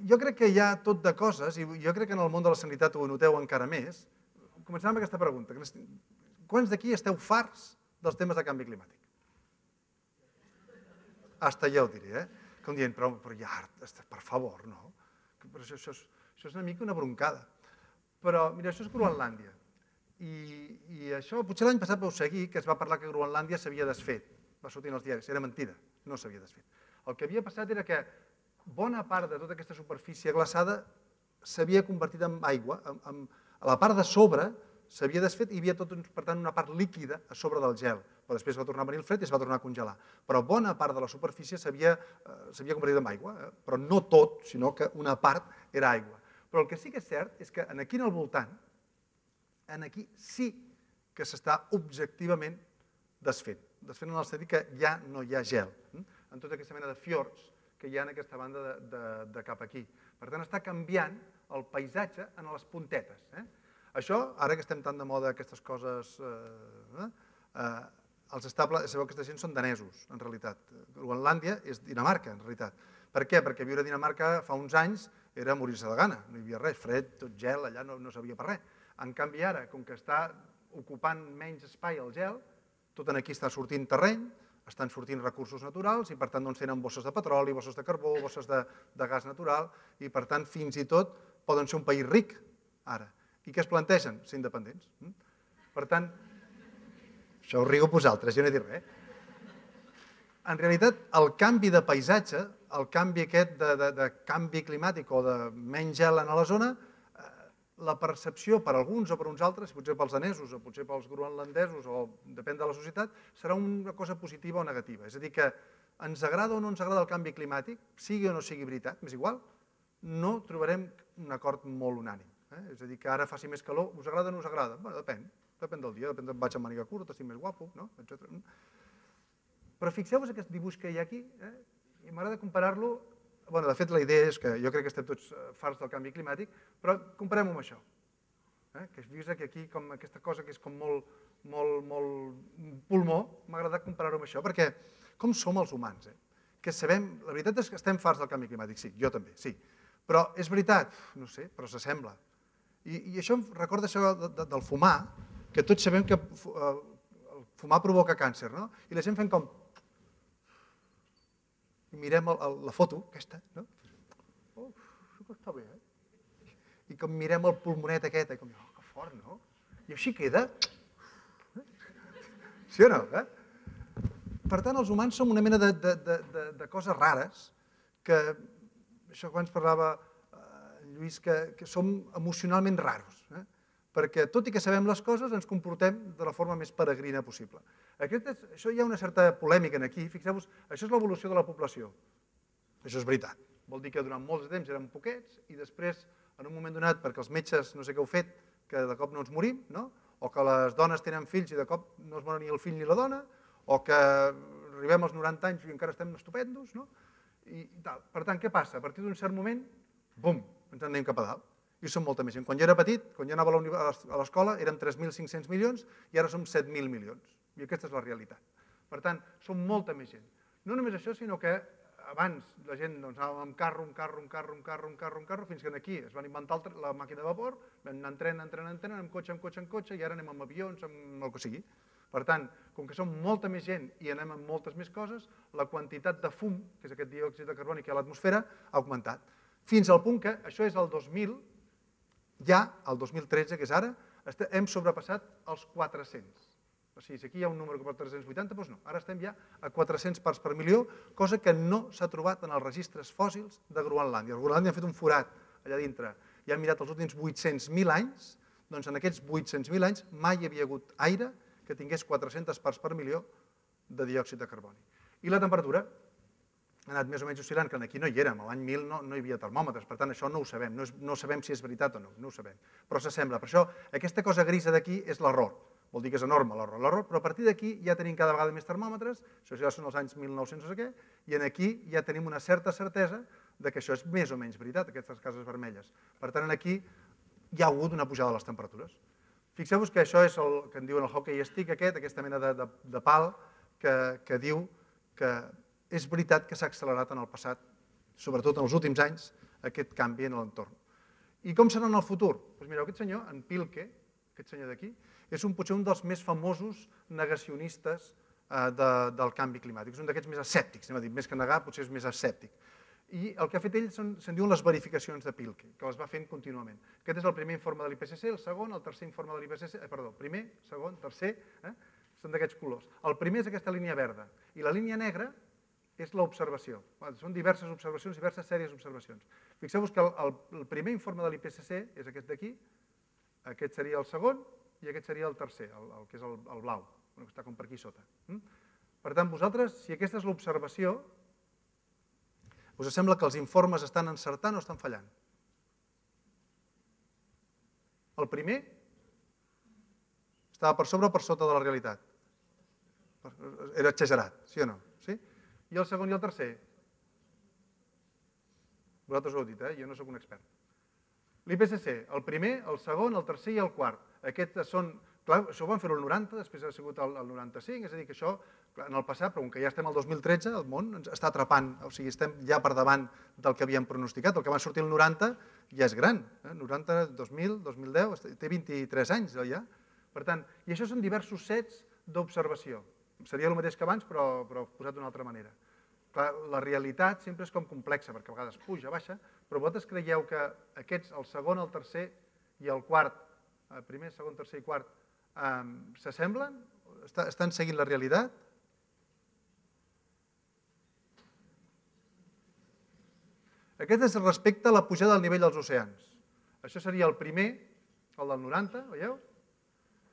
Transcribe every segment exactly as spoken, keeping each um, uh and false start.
jo crec que hi ha tot de coses, i jo crec que en el món de la sanitat ho noteu encara més. Començarem amb aquesta pregunta. Quants d'aquí esteu farts dels temes de canvi climàtic? Hasta ja ho diré, eh? Com dient, però ja, per favor, no? Això és una mica una broncada. Però, mira, això és Groenlàndia. I això, potser l'any passat vau seguir que es va parlar que Groenlàndia s'havia desfet. Va sortir en els diaris. Era mentida, no s'havia desfet. El que havia passat era que bona part de tota aquesta superfície glaçada s'havia convertit en aigua. A la part de sobre s'havia desfet i hi havia, per tant, una part líquida a sobre del gel. Però després va tornar a venir el fred i es va tornar a congelar. Però bona part de la superfície s'havia convertit en aigua, però no tot, sinó que una part era aigua. Però el que sí que és cert és que aquí al voltant, aquí sí que s'està objectivament desfent. Desfent en el sentit que ja no hi ha gel, en tota aquesta mena de fiords que hi ha en aquesta banda de cap aquí. Per tant, està canviant el paisatge en les puntetes. Això, ara que estem tan de moda aquestes coses, els estables, sabeu que aquesta gent són danesos, en realitat. Groenlàndia és Dinamarca, en realitat. Per què? Perquè viure a Dinamarca fa uns anys era morir-se de gana, no hi havia res, fred, tot gel, allà no servia per res. En canvi ara, com que està ocupant menys espai el gel, tot aquí està sortint terreny, estan sortint recursos naturals i per tant tenen bosses de petroli, bosses de carbó, bosses de gas natural i per tant fins i tot poden ser un país ric ara. I què es plantegen? Ser independents. Per tant, això ho riu vosaltres, jo no he dit res. En realitat, el canvi de paisatge, el canvi aquest de canvi climàtic o de menys gel en la zona, la percepció per alguns o per uns altres, potser pels danesos o potser pels groenlandesos o depèn de la societat, serà una cosa positiva o negativa. És a dir, que ens agrada o no ens agrada el canvi climàtic, sigui o no sigui veritat, m'és igual, no trobarem un acord molt unànim. És a dir, que ara faci més calor, us agrada o no us agrada? Bé, depèn, depèn del dia, depèn de vaig amb màniga curta, estic més guapo, etcètera. Però fixeu-vos aquest dibuix que hi ha aquí, i m'agrada comparar-lo. De fet, la idea és que jo crec que estem tots farts del canvi climàtic, però comparem-ho amb això. Que es vist aquí com aquesta cosa que és com molt pulmó, m'ha agradat comparar-ho amb això, perquè com som els humans? Que sabem, la veritat és que estem farts del canvi climàtic, sí, jo també, sí. Però és veritat, no sé, però s'assembla. I això em recorda això del fumar, que tots sabem que el fumar provoca càncer, no? I la gent fem com... i mirem la foto, aquesta, no? Oh, això està bé, eh? I com mirem el pulmonet aquest, com, oh, que fort, no? I així queda. Sí o no? Per tant, els humans som una mena de coses rares, que, això que abans parlava Lluís, que som emocionalment raros, perquè tot i que sabem les coses ens comportem de la forma més peregrina possible. Això hi ha una certa polèmica aquí, fixeu-vos, això és l'evolució de la població. Això és veritat. Vol dir que durant molts temps érem poquets i després, en un moment donat, perquè els metges no sé què heu fet, que de cop no ens morim, o que les dones tenen fills i de cop no es mor ni el fill ni la dona, o que arribem als noranta anys i encara estem estupendos. Per tant, què passa? A partir d'un cert moment, bum, ens en anem cap a dalt. I som molta més gent. Quan jo era petit, quan jo anava a l'escola, érem tres mil cinc-cents milions i ara som set mil milions. I aquesta és la realitat. Per tant, som molta més gent. No només això, sinó que abans la gent anava amb carro, amb carro, amb carro, amb carro, amb carro, amb carro, fins que aquí es van inventar la màquina de vapor, vam anar en tren, en tren, en tren, amb cotxe, amb cotxe, amb cotxe, i ara anem amb avions, amb el que sigui. Per tant, com que som molta més gent i anem amb moltes més coses, la quantitat de fum, que és aquest diòxid de carboni que hi ha a l'atmosfera, ha augmentat. Fins al punt que, això és el dos mil, ja, el dos mil tretze, que és ara, hem sobrepassat els quatre-cents. O sigui, si aquí hi ha un número que per tres-cents vuitanta, doncs no. Ara estem ja a quatre-cents parts per milió, cosa que no s'ha trobat en els registres fòssils de Groenlàndia. Groenlàndia ha fet un forat allà dintre i han mirat els últims vuit-cents mil anys, doncs en aquests vuit-cents mil anys mai hi havia hagut aire que tingués quatre-centes parts per milió de diòxid de carboni. I la temperatura ha anat més o menys oscil·lant, que aquí no hi érem, l'any mil no hi havia termòmetres, per tant això no ho sabem, no sabem si és veritat o no, no ho sabem, però s'assembla. Per això aquesta cosa grisa d'aquí és l'error, vol dir que és enorme l'error, però a partir d'aquí ja tenim cada vegada més termòmetres, això ja són els anys mil nou-cents no sé què, i aquí ja tenim una certa certesa que això és més o menys veritat, aquestes cases vermelles. Per tant, aquí hi ha hagut una pujada de les temperatures. Fixeu-vos que això és el que en diuen el hockey stick aquest, aquesta mena de pal que diu que és veritat que s'ha accelerat en el passat, sobretot en els últims anys, aquest canvi en l'entorn. I com serà en el futur? Doncs mireu, aquest senyor, en Pilke, aquest senyor d'aquí, és potser un dels més famosos negacionistes del canvi climàtic. És un d'aquests més escèptics, anem a dir, més que negar, potser és més escèptic. I el que ha fet ell se'n diuen les verificacions de Pilke, que les va fent contínuament. Aquest és el primer informe de l'I P C C, el segon, el tercer informe de l'I P C C, perdó, primer, segon, tercer, són d'aquests colors. El primer és aquesta línia verda i la línia negra és l'observació. Són diverses observacions, diverses sèries d'observacions. Fixeu-vos que el primer informe de l'I P C C és aquest d'aquí, aquest seria el segon i aquest seria el tercer, el que és el blau, que està com per aquí sota. Per tant, vosaltres, si aquesta és l'observació, us sembla que els informes estan encertant o estan fallant? El primer estava per sobre o per sota de la realitat? Era exagerat, sí o no? I el segon i el tercer? Vosaltres ho heu dit, eh? Jo no soc un expert. L'I P C C, el primer, el segon, el tercer i el quart. Aquests són... Clar, això ho van fer-ho el noranta, després ha sigut el noranta-cinc, és a dir, que això, en el passat, però com que ja estem al dos mil tretze, el món ens està atrapant, o sigui, estem ja per davant del que havíem pronosticat. El que va sortir el noranta ja és gran, noranta, dos mil, dos mil deu, té vint-i-tres anys ja. Per tant, i això són diversos sets d'observació. Seria el mateix que abans, però posat d'una altra manera. Clar, la realitat sempre és com complexa, perquè a vegades puja, baixa, però vosaltres creieu que aquests, el segon, el tercer i el quart, primer, segon, tercer i quart, s'assemblen? Estan seguint la realitat? Aquest és respecte a la pujada del nivell dels oceans. Això seria el primer, el del noranta, veieu?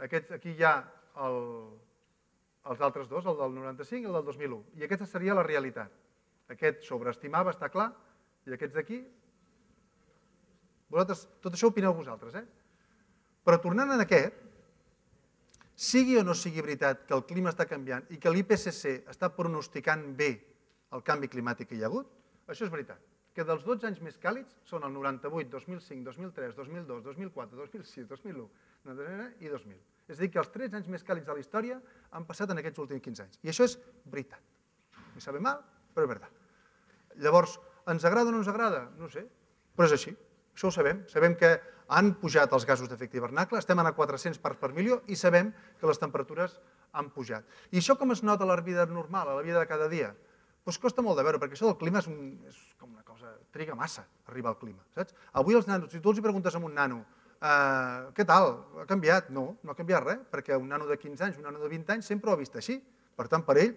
Aquí hi ha els altres dos, el del noranta-cinc i el del dos mil u. I aquesta seria la realitat. Aquest sobreestimava, està clar, i aquests d'aquí... Vosaltres, tot això opineu vosaltres, eh? Però tornant a aquest, sigui o no sigui veritat que el clima està canviant i que l'I P C C està pronosticant bé el canvi climàtic que hi ha hagut, això és veritat. Que dels dotze anys més càlids són el noranta-vuit, dos mil cinc, dos mil tres, dos mil dos, dos mil quatre, dos mil sis, dos mil u i dos mil. És a dir, que els tretze anys més càlids de la història han passat en aquests últims quinze anys. I això és veritat. Me sabe mal, però és veritat. Llavors, ens agrada o no ens agrada? No sé, però és així. Això ho sabem. Sabem que han pujat els gasos d'efecte hivernacle, estem a quatre-cents parts per milió i sabem que les temperatures han pujat. I això com es nota a la vida normal, a la vida de cada dia? Doncs costa molt de veure, perquè això del clima és com una cosa, triga massa arribar al clima, saps? Avui els nanos, si tu els preguntes a un nano, què tal, ha canviat? No, no ha canviat res, perquè un nano de quinze anys, un nano de vint anys sempre ho ha vist així. Per tant, per ell,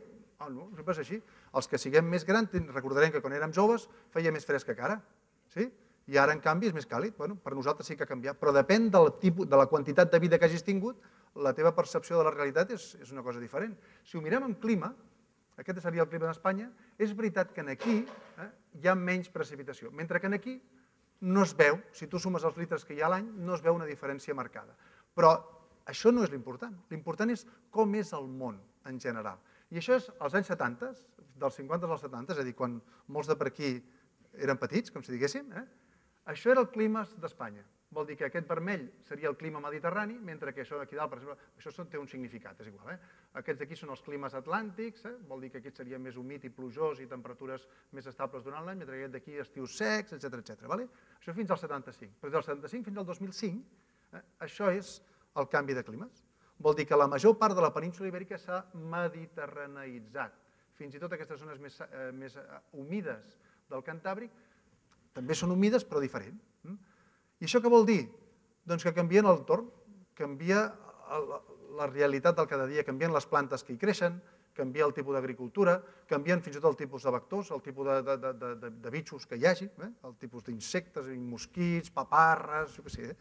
no, sempre és així. Els que siguem més grans, recordarem que quan érem joves feia més fresca que ara, sí? I ara, en canvi, és més càlid. Per nosaltres sí que ha canviat, però depèn de la quantitat de vida que hagis tingut, la teva percepció de la realitat és una cosa diferent. Si ho mirem en clima, aquest seria el clima d'Espanya, és veritat que aquí hi ha menys precipitació, mentre que aquí no es veu, si tu sumes els litres que hi ha a l'any, no es veu una diferència marcada. Però això no és l'important. L'important és com és el món en general. I això és als anys setanta, dels cinquanta als setanta, és a dir, quan molts de per aquí eren petits, com si diguéssim, això era el clima d'Espanya. Vol dir que aquest vermell seria el clima mediterrani, mentre que això d'aquí dalt, per exemple, això té un significat, és igual. Aquests d'aquí són els climes atlàntics, vol dir que aquest seria més humit i plujós i temperatures més estables durant l'any, mentre que aquest d'aquí estius secs, etcètera, etcètera. Això fins al setanta-cinc. Però del setanta-cinc fins al dos mil cinc, això és el canvi de climes. Vol dir que la major part de la península ibèrica s'ha mediterraneïtzat. Fins i tot aquestes zones més humides del Cantàbric també són humides, però diferent. I això què vol dir? Doncs que canvien l'entorn, canvia la realitat del cada dia, canvien les plantes que hi creixen, canvia el tipus d'agricultura, canvien fins i tot el tipus de vectors, el tipus de bitxos que hi hagi, el tipus d'insectes, mosquits, paparres, jo què sé,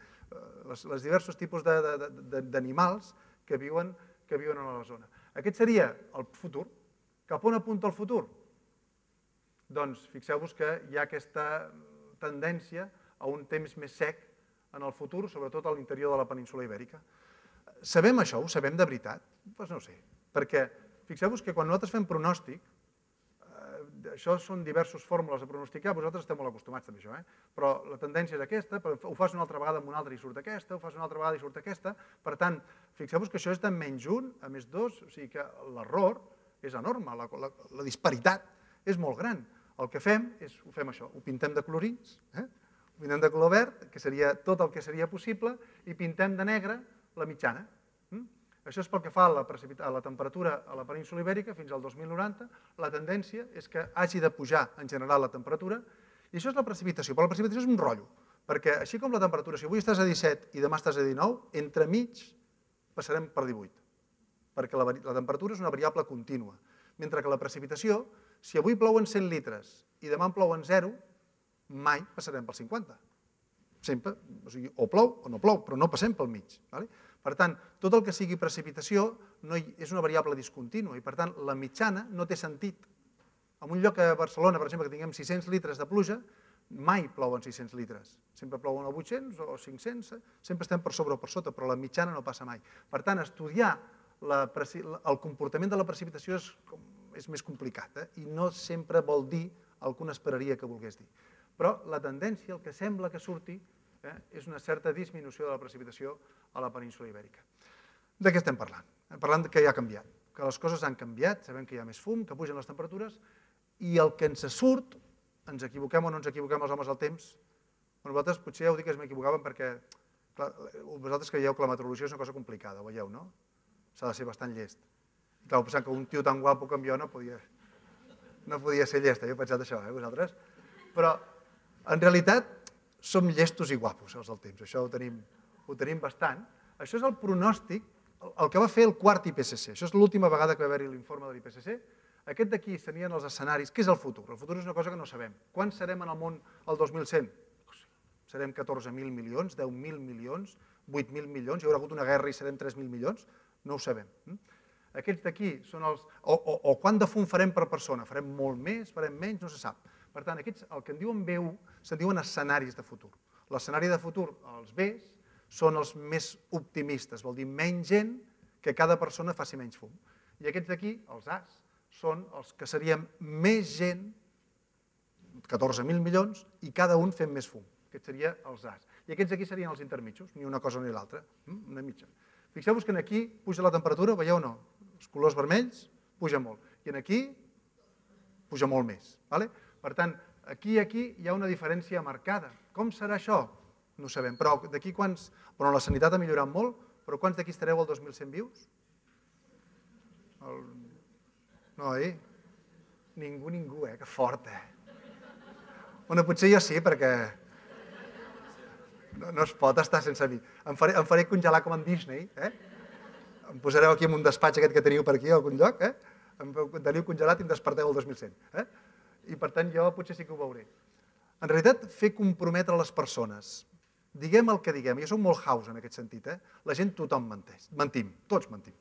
els diversos tipus d'animals que viuen a la zona. Aquest seria el futur. Cap on apunta el futur? Doncs fixeu-vos que hi ha aquesta tendència a un temps més sec en el futur, sobretot a l'interior de la península ibèrica. Sabem això? Ho sabem de veritat? Doncs no ho sé, perquè fixeu-vos que quan nosaltres fem pronòstic, això són diverses fórmules de pronosticar, vosaltres esteu molt acostumats també a això, però la tendència és aquesta, ho fas una altra vegada amb una altra i surt aquesta, ho fas una altra vegada i surt aquesta, per tant, fixeu-vos que això és de menys un a més dos, o sigui que l'error és enorme, la disparitat és molt gran. El que fem és, ho fem això, ho pintem de colorins, eh? Ho pintem de color verd, que seria tot el que seria possible, i pintem de negre la mitjana. Això és pel que fa a la, a la temperatura a la península Ibèrica fins al dos mil noranta. La tendència és que hagi de pujar en general la temperatura, i això és la precipitació, però la precipitació és un rotllo, perquè així com la temperatura, si avui estàs a disset i demà estàs a dinou, entremig passarem per divuit, perquè la, la temperatura és una variable contínua, mentre que la precipitació, si avui plouen cent litres i demà en plouen zero, mai passarem pel cinquanta. Sempre, o sigui, o plou o no plou, però no passem pel mig. Vale? Per tant, tot el que sigui precipitació no hi, és una variable discontínua i, per tant, la mitjana no té sentit. En un lloc a Barcelona, per exemple, que tinguem sis-cents litres de pluja, mai plouen sis-cents litres. Sempre plouen a vuit-cents o cinc-cents, sempre estem per sobre o per sota, però la mitjana no passa mai. Per tant, estudiar la, el comportament de la precipitació és, és més complicat, eh? I no sempre vol dir el que un esperaria que volgués dir. Però la tendència, el que sembla que surti, eh, és una certa disminució de la precipitació a la península Ibèrica. De què estem parlant? Estem parlant que ja ha canviat, que les coses han canviat, sabem que hi ha més fum, que pugen les temperatures, i el que ens surt, ens equivoquem o no ens equivoquem els homes al temps, nosaltres potser ja ho dic que m'equivocàvem perquè clar, vosaltres creieu que la meteorologia és una cosa complicada, ho veieu, no? S'ha de ser bastant llest. I clar, pensant que un tio tan guapo com jo no podia, no podia ser llest, jo he pensat això, eh, vosaltres? Però en realitat som llestos i guapos els del temps, això ho tenim, ho tenim bastant. Això és el pronòstic, el que va fer el quart I P C C, això és l'última vegada que va haver-hi l'informe de l'I P C C. Aquest d'aquí serien els escenaris. Què és el futur? El futur és una cosa que no sabem. Quan serem en el món el dos mil cent? Serem catorze mil milions, deu mil milions, vuit mil milions, hi haurà hagut una guerra i serem tres mil milions? No ho sabem. Aquests d'aquí són els... O, o, o quant de fum farem per persona? Farem molt més, farem menys? No se sap. Per tant, aquests, el que en diuen B u, se'n diuen escenaris de futur. L'escenari de futur, els Bs, són els més optimistes, vol dir menys gent que cada persona faci menys fum. I aquests d'aquí, els As, són els que seríem més gent, catorze mil milions, i cada un fem més fum. Aquests serien els As. I aquests d'aquí serien els intermitjos, ni una cosa ni l'altra, una mitja. Fixeu-vos que aquí puja la temperatura, veieu o no? Els colors vermells puja molt. I aquí puja molt més. Per tant, aquí i aquí hi ha una diferència marcada. Com serà això? No ho sabem. Però d'aquí quants... Però la sanitat ha millorat molt, però quants d'aquí estareu al dos mil cent vius? No, oi? Ningú, ningú, eh? Que fort, eh? Bueno, potser jo sí, perquè no es pot estar sense mi. Em faré congelar com en Disney, eh? Em posareu aquí en un despatx aquest que teniu per aquí, a algun lloc, eh? Em teniu congelat i em desperteu el dos mil cent, eh? I per tant jo potser sí que ho veuré. En realitat, fer comprometre les persones. Diguem el que diguem. Jo soc molt house en aquest sentit. La gent, tothom menteix. Mentim, tots mentim.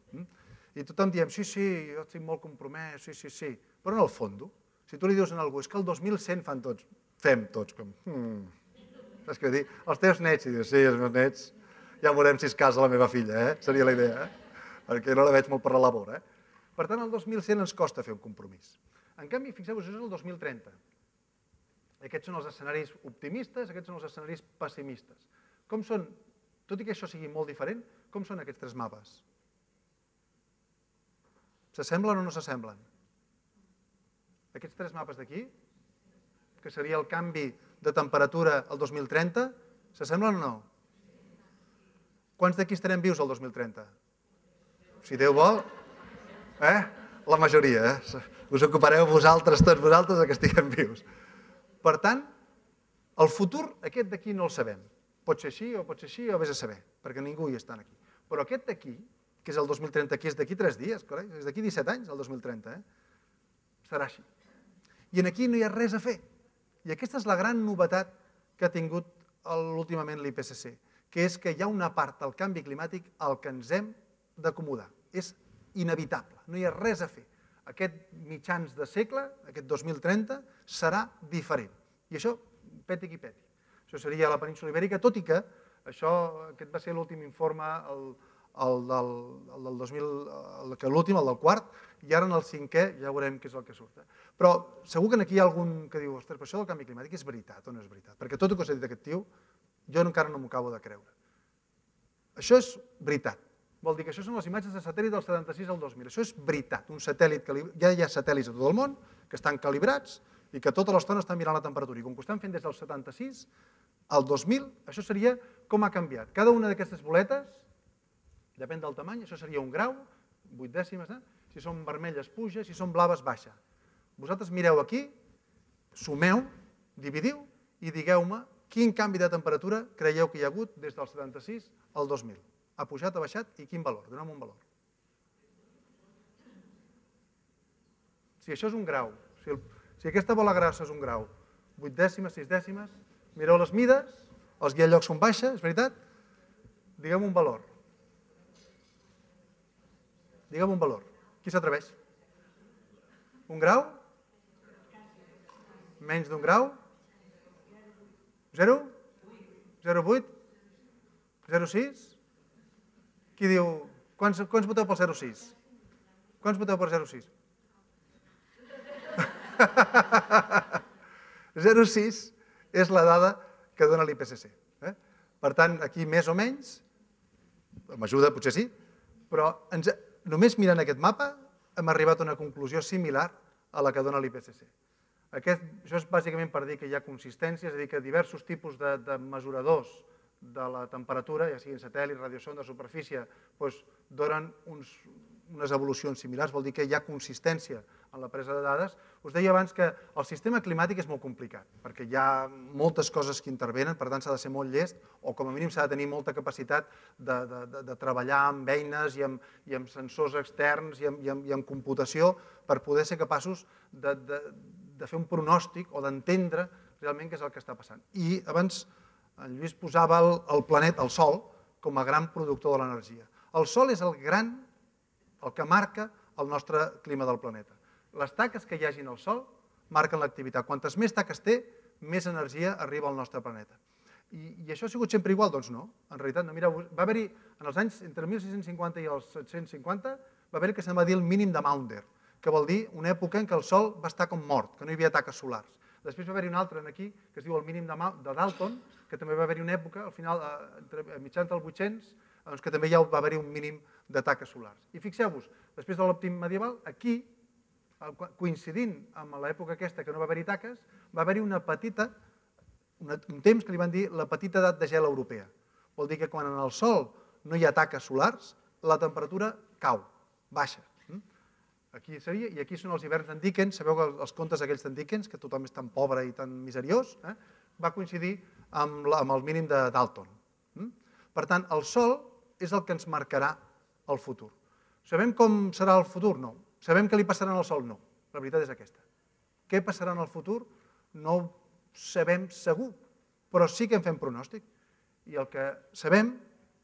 I tothom diem, sí, sí, jo estic molt compromès, sí, sí, sí. Però en el fons, si tu li dius a algú, és que el dos mil cent fan tots, fem tots, com... Saps què vull dir? Els teus nets, i dius, sí, els meus nets, ja veurem si es casa la meva filla, eh? Seria la idea, eh? Perquè no la veig molt per la labor, eh? Per tant, el dos mil cent ens costa fer un compromís. En canvi, fixeu-vos, això és el dos mil trenta. Aquests són els escenaris optimistes, aquests són els escenaris pessimistes. Com són, tot i que això sigui molt diferent, com són aquests tres mapes? S'assemblen o no s'assemblen? Aquests tres mapes d'aquí, que seria el canvi de temperatura al dos mil trenta, s'assemblen o no? Quants d'aquí estarem vius al dos mil trenta? Si Déu vol, eh? La majoria, eh? Us ocupareu vosaltres, tots vosaltres, que estiguem vius. Per tant, el futur, aquest d'aquí no el sabem. Pot ser així o pot ser així o vés a saber, perquè ningú hi està aquí. Però aquest d'aquí, que és el dos mil trenta, que és d'aquí tres dies, és d'aquí disset anys, el dos mil trenta, serà així. I aquí no hi ha res a fer. I aquesta és la gran novetat que ha tingut últimament l'I P C C, que és que hi ha una part del canvi climàtic al que ens hem d'acomodar. És inevitable, no hi ha res a fer. Aquest mitjans de segle, aquest dos mil trenta, serà diferent. I això, peti qui peti. Això seria la península Ibèrica, tot i que això, aquest va ser l'últim informe, el del dos mil, l'últim, el del quart, i ara en el cinquè ja veurem què és el que surt. Però segur que aquí hi ha algun que diu, ostres, però això del canvi climàtic és veritat o no és veritat? Perquè tot el que us ha dit aquest tio, jo encara no m'ho acabo de creure. Això és veritat. Vol dir que això són les imatges de satèl·lit del setanta-sis al dos mil. Això és veritat. Un satèl·lit, ja hi ha satèl·lits a tot el món que estan calibrats i que tota l'estona estan mirant la temperatura. I com que ho estan fent des del setanta-sis al dos mil, això seria com ha canviat. Cada una d'aquestes boletes, depèn del tamany, això seria un grau, vuit dècimes, eh? Si són vermelles puja, si són blaves baixa. Vosaltres mireu aquí, sumeu, dividiu i digueu-me quin canvi de temperatura creieu que hi ha hagut des del setanta-sis al dos mil. Ha pujat, ha baixat i quin valor? Doneu-me un valor. Si això és un grau, si, el, si aquesta bola grassa és un grau, vuit dècimes, sis dècimes, mireu les mides, els guiallocs són baixes, és veritat? Digueu-me un valor. Digueu-me un valor. Qui s'atreveix? Un grau? Menys d'un grau? Zero? Zero vuit? Zero sis? Qui diu... Quants, quants voteu pel zero sis? Quants voteu per zero sis? zero coma sis és la dada que dona l'I P C C. Eh? Per tant, aquí més o menys, m'ajuda, potser sí, però ens, només mirant aquest mapa hem arribat a una conclusió similar a la que dona l'I P C C. Aquest, això és bàsicament per dir que hi ha consistència, és a dir, que diversos tipus de, de mesuradors de la temperatura, ja siguin satèl·lit, radiosonda, superfície, doncs donen uns, unes evolucions similars, vol dir que hi ha consistència en la presa de dades. Us deia abans que el sistema climàtic és molt complicat, perquè hi ha moltes coses que intervenen, per tant s'ha de ser molt llest, o com a mínim s'ha de tenir molta capacitat de, de, de, de treballar amb eines i amb, i amb sensors externs i amb, i, amb, i amb computació per poder ser capaços de, de, de fer un pronòstic o d'entendre realment què és el que està passant. I abans en Lluís posava el, el planeta, el Sol, com a gran productor de l'energia. El Sol és el gran, el que marca el nostre clima del planeta. Les taques que hi hagin al Sol marquen l'activitat. Quantes més taques té, més energia arriba al nostre planeta. I, i això ha sigut sempre igual? Doncs no. En realitat, no. Mireu, va haver-hi, en els anys entre mil sis-cents cinquanta i els set-cents cinquanta, va haver-hi que se'n va dir el mínim de Maunder, que vol dir una època en què el Sol va estar com mort, que no hi havia taques solars. Després va haver-hi un altre aquí, que es diu el mínim de, de Dalton, que també va haver-hi una època, al final, a mitjans del vuit-cents, doncs que també ja va haver-hi un mínim de taques solars. I fixeu-vos, després de l'òptim medieval, aquí, coincidint amb l'època aquesta que no va haver-hi taques, va haver-hi una petita, una, un temps que li van dir la petita edat de gel europea. Vol dir que quan en el Sol no hi ha taques solars, la temperatura cau, baixa. Aquí seria, i aquí són els hiverns d'en Dickens, sabeu que els contes aquells d'en Dickens, que tothom és tan pobre i tan miseriós, eh? Va coincidir amb, la, amb el mínim de Dalton. Per tant, el Sol és el que ens marcarà el futur. Sabem com serà el futur? No. Sabem què li passarà al Sol? No. La veritat és aquesta. Què passarà en el futur? No ho sabem segur, però sí que en fem pronòstic. I el que sabem,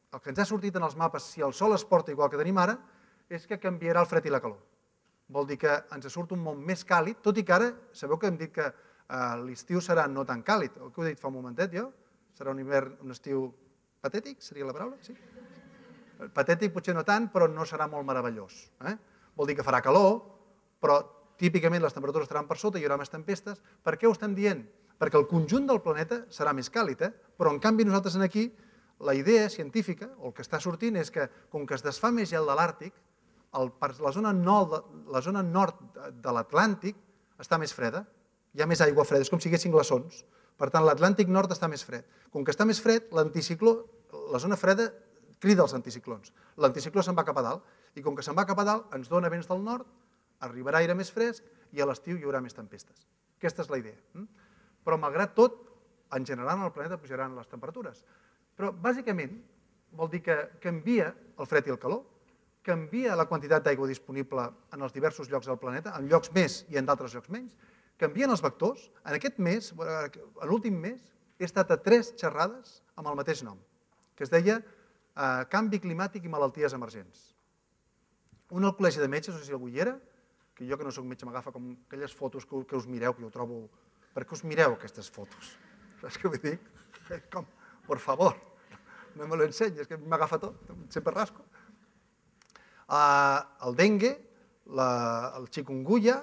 el que ens ha sortit en els mapes, si el Sol es porta igual que tenim ara, és que canviarà el fred i la calor. Vol dir que ens surt un món més càlid, tot i que ara, sabeu que hem dit que l'estiu serà no tan càlid, el que ho he dit fa un momentet jo, serà un hivern, un estiu patètic, seria la paraula? Sí. Patètic potser no tant, però no serà molt meravellós. Vol dir que farà calor, però típicament les temperatures estaran per sota, hi haurà més tempestes. Per què ho estem dient? Perquè el conjunt del planeta serà més càlid, però en canvi nosaltres aquí, la idea científica, o el que està sortint, és que com que es desfà més gel de l'Àrtic, la zona nord de l'Atlàntic està més freda, hi ha més aigua freda, és com si hi haguessin glaçons. Per tant, l'Atlàntic nord està més fred. Com que està més fred, l'anticicló, la zona freda crida els anticiclons. L'anticicló se'n va cap a dalt, i com que se'n va cap a dalt, ens dona vents del nord, arribarà aire més fresc, i a l'estiu hi haurà més tempestes. Aquesta és la idea. Però, malgrat tot, en general, en el planeta pujaran les temperatures. Però, bàsicament, vol dir que canvia el fred i el calor, canvia la quantitat d'aigua disponible en els diversos llocs del planeta, en llocs més i en d'altres llocs menys, canvien els vectors. En aquest mes, en l'últim mes, he estat a tres xerrades amb el mateix nom, que es deia Canvi climàtic i malalties emergents. Un al col·legi de metges, no sé si algú hi era, que jo que no soc metge m'agafa com aquelles fotos que us mireu, que jo trobo... Per què us mireu aquestes fotos? Saps què vull dir? Com, por favor, no me lo ensenyes, que m'agafa tot, sempre rasco. El dengue, el chikungunya,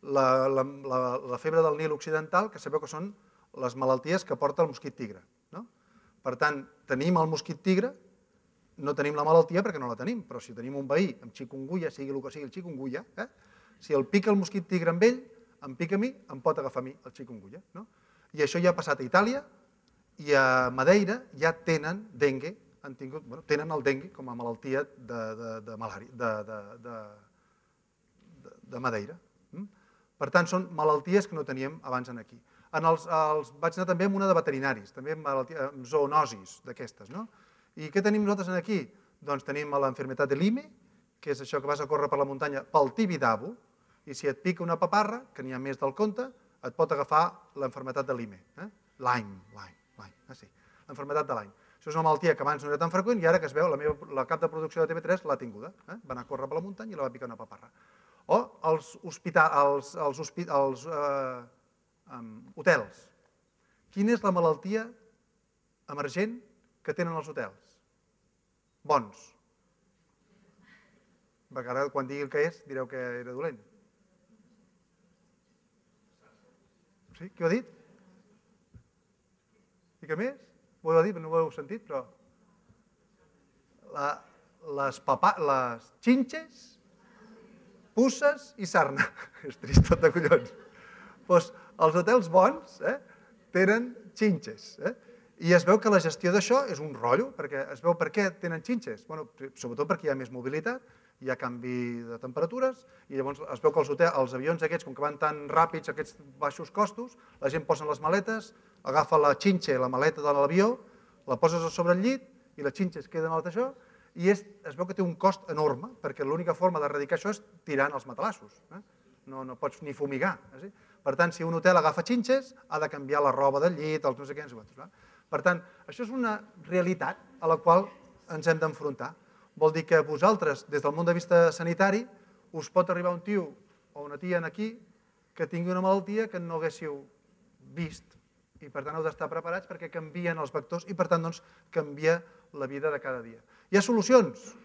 la febre del Nil occidental, que sabeu que són les malalties que porta el mosquit tigre. Per tant, tenim el mosquit tigre, no tenim la malaltia perquè no la tenim, però si tenim un veí amb chikungunya, sigui el que sigui el chikungunya, si el pica el mosquit tigre amb ell, em pica a mi, em pot agafar a mi el chikungunya. I això ja ha passat a Itàlia i a Madeira ja tenen dengue, tenen el dengue com a malaltia de Madeira. Per tant, són malalties que no teníem abans aquí. Vaig anar també amb una de veterinaris, també amb zoonosis d'aquestes. I què tenim nosaltres aquí? Doncs tenim l'enfermetat de Lyme, que és això que vas a córrer per la muntanya pel Tibidabo, i si et pica una paparra, que n'hi ha més del compte, et pot agafar l'enfermetat de Lyme. Lyme, Lyme, sí, l'enfermetat de Lyme. Això és una malaltia que abans no era tan freqüent i ara que es veu, la cap de producció de T V tres l'ha tinguda. Va anar a córrer per la muntanya i la va picar una paparra. O els hotels. Quina és la malaltia emergent que tenen els hotels? Bons. Perquè ara, quan digui el que és, direu que era dolent. Sí? Qui ho ha dit? I què més? Ho heu dit, no ho heu sentit, però... Les xinxes, puces i sarna. És trist tot de collons. Doncs els hotels bons tenen xinxes. I es veu que la gestió d'això és un rotllo, perquè es veu per què tenen xinxes. Sobretot perquè hi ha més mobilitat, hi ha canvi de temperatures, i llavors es veu que els avions aquests, com que van tan ràpids, aquests baixos costos, la gent posa les maletes, agafa la xinxa i la maleta de l'avió, la poses a sobre el llit, i les xinxes queden al això, i es veu que té un cost enorme, perquè l'única forma d'erradicar això és tirant els matalassos. No pots ni fumigar. Per tant, si un hotel agafa xinxes, ha de canviar la roba del llit, els no sé què, no sé quants. Per tant, això és una realitat a la qual ens hem d'enfrontar. Vol dir que vosaltres, des del punt de vista sanitari, us pot arribar un tio o una tia aquí que tingui una malaltia que no haguéssiu vist i per tant heu d'estar preparats perquè canvien els vectors i per tant canvia la vida de cada dia. Hi ha solucions?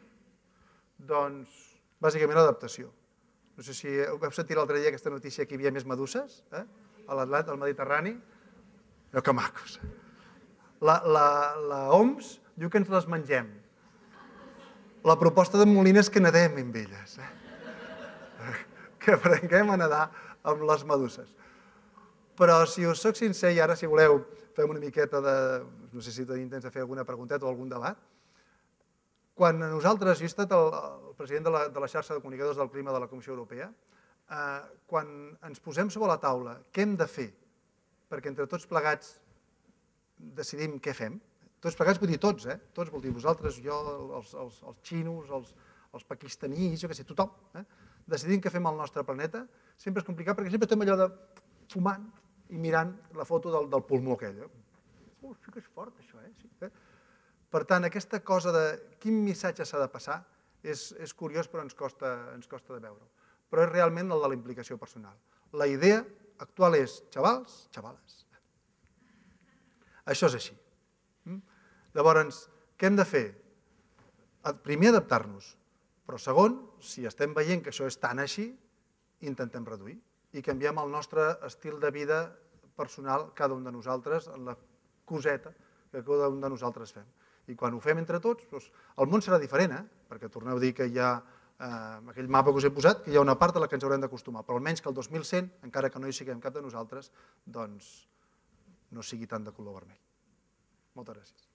Doncs bàsicament l'adaptació. No sé si heu sentit l'altre dia aquesta notícia que hi havia més meduses a l'Atlàntic, al Mediterrani. Que macos. La O M S diu que ens les mengem. La proposta de Molina és que nedem amb elles. Que aprenguem a nedar amb les meduses. Però si us soc sincer, i ara si voleu fem una miqueta de... no sé si tenim temps de fer alguna pregunteta o algun debat. Quan nosaltres, jo he estat el president de la xarxa de comunicadors del clima de la Comissió Europea, quan ens posem sobre la taula què hem de fer perquè entre tots plegats decidim què fem, tots plegats vull dir tots, eh? Tots vol dir vosaltres, jo, els xinos, els pakistaníes, jo què sé, tothom, decidim què fem al nostre planeta, sempre és complicat perquè sempre estem allò de fumant i mirant la foto del pulmó aquell. Oh, sí que és fort això, eh? Per tant, aquesta cosa de quin missatge s'ha de passar és curiós però ens costa de veure-ho. Però és realment el de la implicació personal. La idea actual és, xavals, xavales, això és així. Llavors, què hem de fer? Primer, adaptar-nos, però segon, si estem veient que això és tan així, intentem reduir i canviem el nostre estil de vida personal, cada un de nosaltres, en la coseta que cada un de nosaltres fem. I quan ho fem entre tots, el món serà diferent, perquè torneu a dir que hi ha aquell mapa que us he posat, que hi ha una part a la que ens haurem d'acostumar, però almenys que el dos mil cent, encara que no hi siguem cap de nosaltres, doncs no sigui tant de color vermell. Moltes gràcies.